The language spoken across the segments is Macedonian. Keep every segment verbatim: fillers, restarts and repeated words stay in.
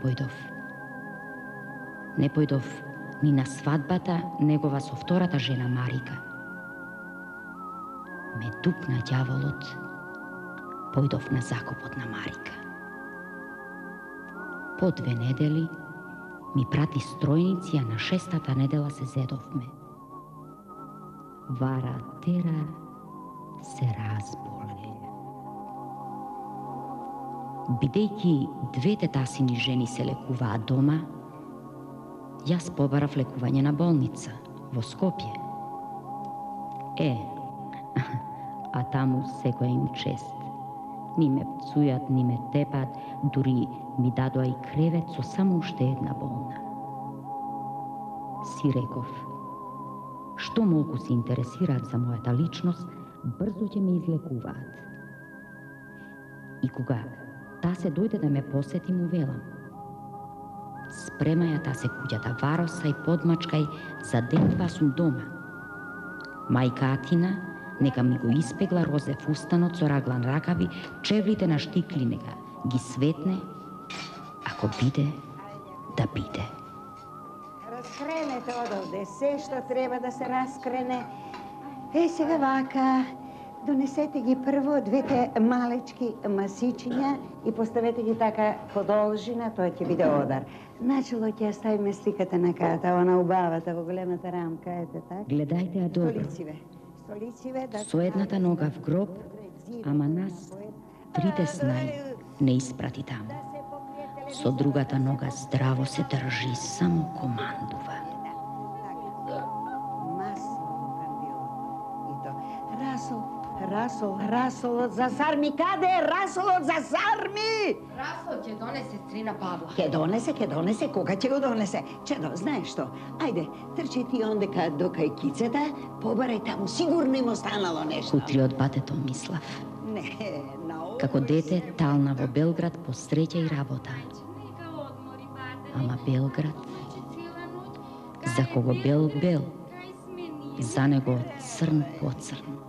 појдов. Не појдов ни на свадбата негова со втората жена Марика. Ме тупна ѓаволот, појдов на закопот на Марика. По две недели ми прати стројници, а на шестата недела се зедовме. Вара тера се разболе. Бидејќи двете тасини жени се лекуваат дома, јас побарав лекување на болница во Скопје. Е, а таму секоја им чест. Ни ме пцујат, ни ме тепат, дури ми дадоа и кревет со само уште една болна. Си реков, што молку се интересираат за мојата личност, брзо ќе ме излекуваат. И кога та се дојде да ме посети, му велам: спремаја та се куќата, вароса и подмачкај, за ден-два сум дома. Мајка Атина нека ми го испегла розе фустанот со раглан ракави, чевлите на штикли нека ги светне, ако биде, да биде. Раскренете одовде се што треба да се раскрене. Е, сега вака, донесете ги прво двете малечки масичиња и поставете ги така подолжина, тоа ќе биде одар. Начело ќе ставиме сликата на ката, она убавата во големата рамка, ете така. Гледајте ја добро. Столициве. Столициве, да... Со едната нога в гроб, ама нас трите снај не испрати таму. Со другата нога здраво се држи, само командува. Расол, Расол, Расолот за сарми, каде е Расолот за сарми? Расол ќе донесе стрина Павла. Ке донесе, ке донесе, кога ќе го донесе? Чедо, знаеш што? Ајде, трчи ти ондека до кај кицата, побарај таму, сигурно им останало нешто. Утре од батето Мислав. Не, на овој... Како дете тална во Белград по среќа и работа. Ама Белград, за кого бел бел, за него црн по црн.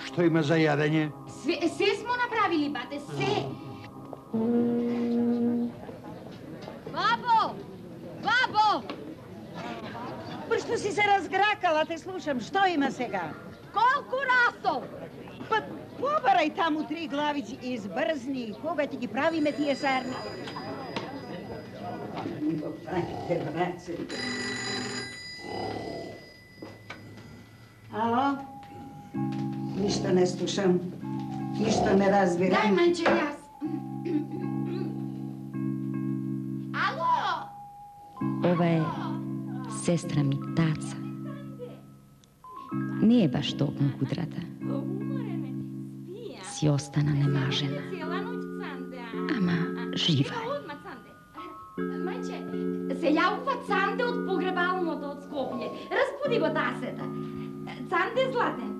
Што има за јадење? Се, се смо направили, бате, се! Бабо! Бабо! Што си се разгракала, те слушам, што има сега? Колку расол? Па, побарај таму три главици и избрзни, кога ќе ги правиме тие сарни? Ало? Ништо не слушам, ништо не разбирам. Дај, манче, јас. Ало? Ова е сестра ми Таца. Не е баш толком кудрата. Си остана немажена. Ама жива е. Мајче, се јавува Цанде од погребалното од Скопје. Разбуди го тасета. Цанде, Златен.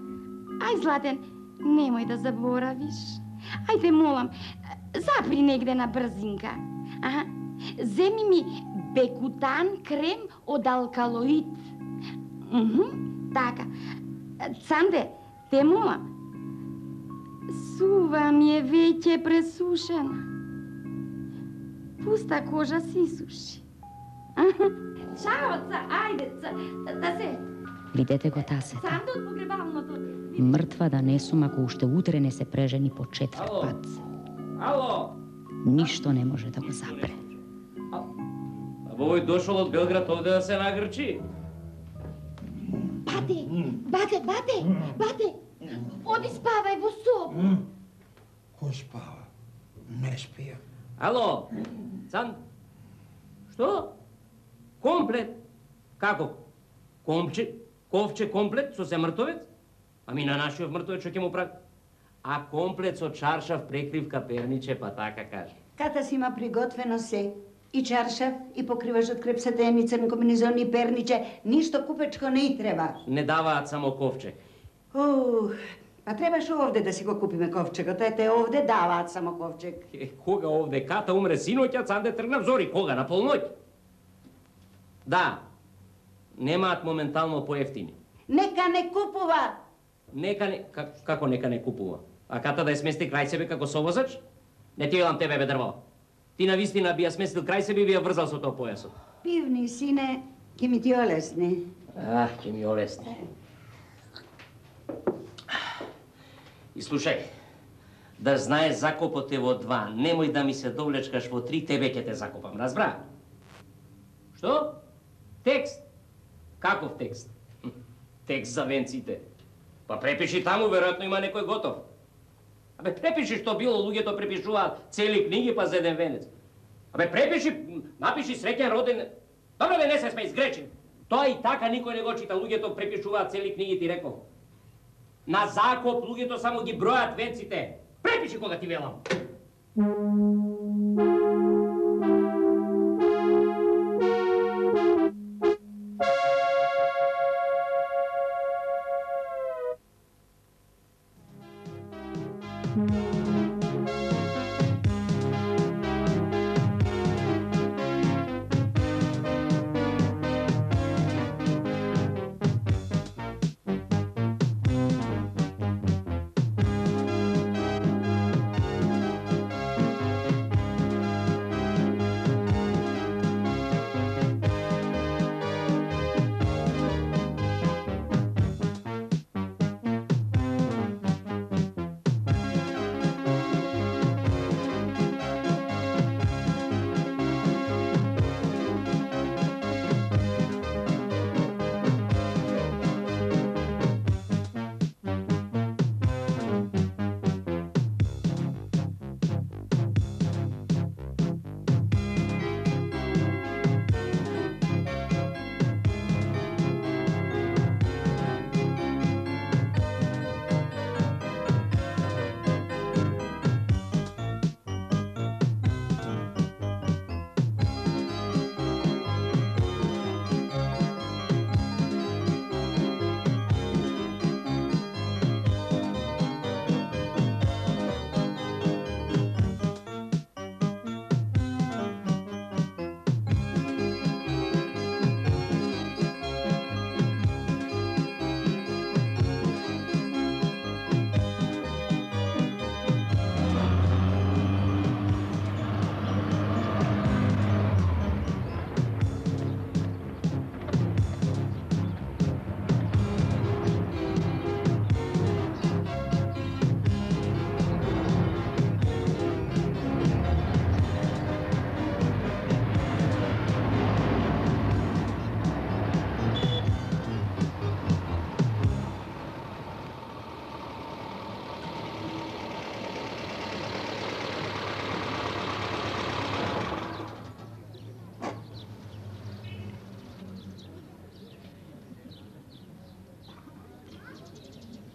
Ај, Златен, немој да заборавиш. Ајде, молам, запри негде на брзинка. Аха, земи ми бекутан крем од алкалоид. Мхм, така. Цанде, те молам. Сува ми е веќе пресушена. Пуста кожа си суши. Чао, ца, ајде, ца, да се... Видете го тасета. Цанде од погребалното. Мртва да не сум ако уште утре не се прежени по четврт пат. Ало! Ништо не може да го запре. А овој дошол од Белград овде да се нагрчи. Бате, бате, бате, бате! Оди спавај во соба. Кој спава? Не спија. Ало! Цан... Што? Комплет? Како? Комче? Ковче комплет со се мртовец? Ами на нашиот мртовец што ќе му прави? А комплет со чаршав прекривка перниче, па така каже. Ката си има приготвено се. И чаршав, и покриваш од креп сатен, и црн комбинезон, и перниче. Ништо купечко не и треба. Не даваат само ковче. Ух, па требаш овде да си го купиме ковчегот. Ете, овде даваат само ковчег. Е, кога овде Ката умре синоќа, Цанде тргна взори. Кога? На полноќ? Да. Немаат моментално поевтини. Нека не купува! Нека не... Как, како нека не купува? А Ката да ја смести крај себе како совозач? Не ти велам тебе, бе, дрво. Ти навистина би ја сместил крај себе и би ја врзал со тоа појасот. Пивни, сине, ќе ми ти олесни. Ах, ќе ми олесни. И слушај, да знаеш закопот е во два, немој да ми се довлечкаш во три, тебе ќе те закопам, разбра? Што? Текст? Каков текст? Текст за венците. Па препиши таму, веројатно има некој готов. Абе, препиши што било, луѓето препишуваат цели книги па за еден венец. Абе, препиши, напиши среќен роден... Добре, бе, не се смеј, сгречен. Тоа и така никој не го чита, луѓето препишуваат цели книги, ти реков. На закоп луѓето само ги бројат венците. Препиши кога ти велам.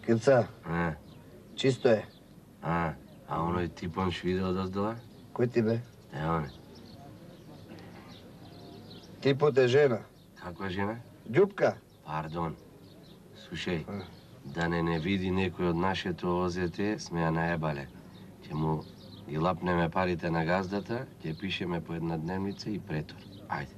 Кирца, А, чисто е. а, а оној типонш видео доздала? Кој ти бе? Е, оне. Типот е жена. Каква жена? Ѓупка. Пардон. Слушај, А. да не не види некој од нашето озете, сме ја наебале. Ќе му ги лапнеме парите на газдата, ќе пишеме по една дневница и претор. Ајде.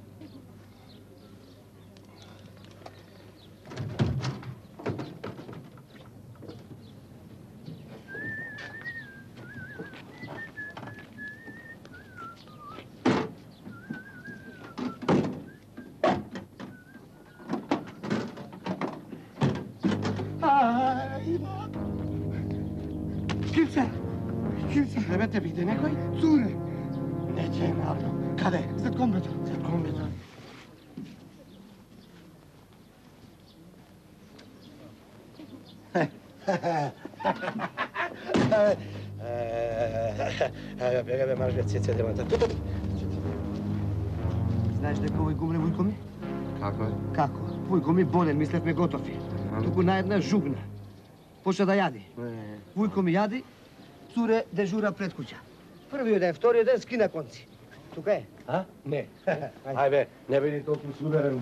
Кирца! Кирца! Не те види некој? Цуре! Не ќе навно. Каде? Зад комбето. Зад комбето. Бега бе, марш бе, цеце демата. Знаеш дека овој гумне Вујко ми? Како е? Како? Вујко ми болен, мислевме готови. Туку наедна жугна. Почна да јади. Вујко ми јади, цуре дежура пред куќа. Првиот ден, вториот ден скина конци. Тука е? А? Не. Ајде, не биди толку суверен.